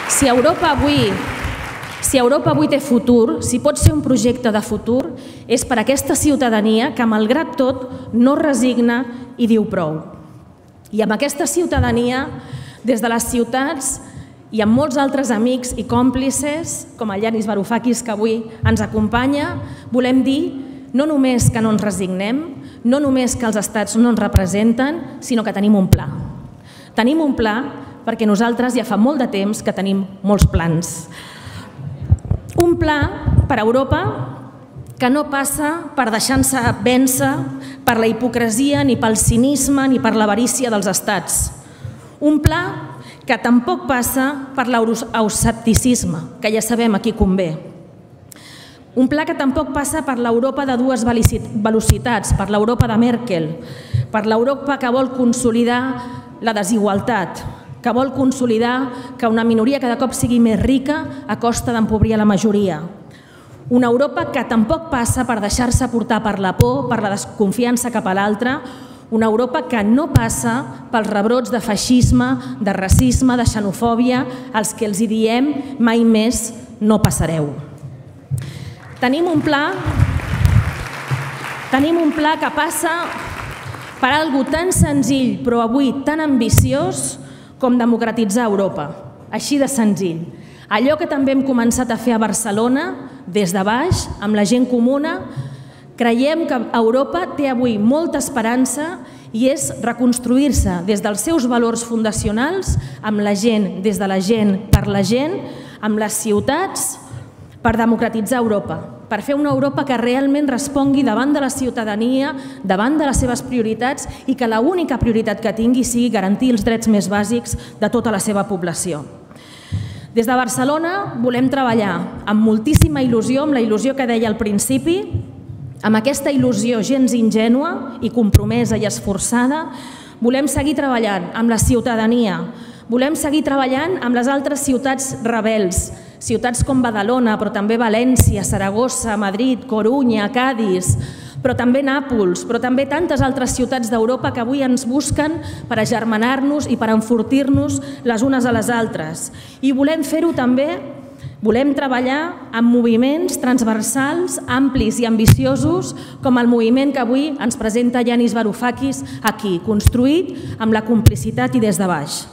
Si Europa avui té futur, si pot ser un projecte de futur, és per aquesta ciutadania que, malgrat tot, no es resigna i diu prou. I amb aquesta ciutadania, des de les ciutats i amb molts altres amics i còmplices, com el Yanis Varoufakis, que avui ens acompanya, volem dir no només que no ens resignem, no només que els estats no ens representen, sinó que tenim un pla. Tenim un pla perquè nosaltres ja fa molt de temps que tenim molts plans. Un pla per a Europa que no passa per deixar-se vèncer per la hipocresia, ni pel cinisme, ni per l'avarícia dels estats. Un pla que tampoc passa per l'euroscepticisme, que ja sabem a qui convé. Un pla que tampoc passa per l'Europa de dues velocitats, per l'Europa de Merkel, per l'Europa que vol consolidar la desigualtat, que vol consolidar que una minoria cada cop sigui més rica a costa d'empobrir la majoria. Una Europa que tampoc passa per deixar-se portar per la por, per la desconfiança cap a l'altre, una Europa que no passa pels rebrots de feixisme, de racisme, de xenofòbia, als que els diem mai més no passareu. Tenim un pla que passa per algo tan senzill però avui tan ambiciós com democratitzar Europa, així de senzill. Allò que també hem començat a fer a Barcelona, des de baix, amb la gent comuna, creiem que Europa té avui molta esperança i és reconstruir-se des dels seus valors fundacionals, amb la gent, des de la gent, per la gent, amb les ciutats, per democratitzar Europa, per fer una Europa que realment respongui davant de la ciutadania, davant de les seves prioritats i que l'única prioritat que tingui sigui garantir els drets més bàsics de tota la seva població. Des de Barcelona volem treballar amb moltíssima il·lusió, amb la il·lusió que deia al principi, amb aquesta il·lusió gens ingènua i compromesa i esforçada, volem seguir treballant amb la ciutadania, volem seguir treballant amb les altres ciutats rebels, ciutats com Badalona, però també València, Saragossa, Madrid, Corunya, Cadis, però també Nàpols, però també tantes altres ciutats d'Europa que avui ens busquen per agermanar-nos i per enfortir-nos les unes a les altres. I volem fer-ho també, volem treballar amb moviments transversals, amplis i ambiciosos, com el moviment que avui ens presenta Yanis Varoufakis aquí, construït amb la complicitat i des de baix.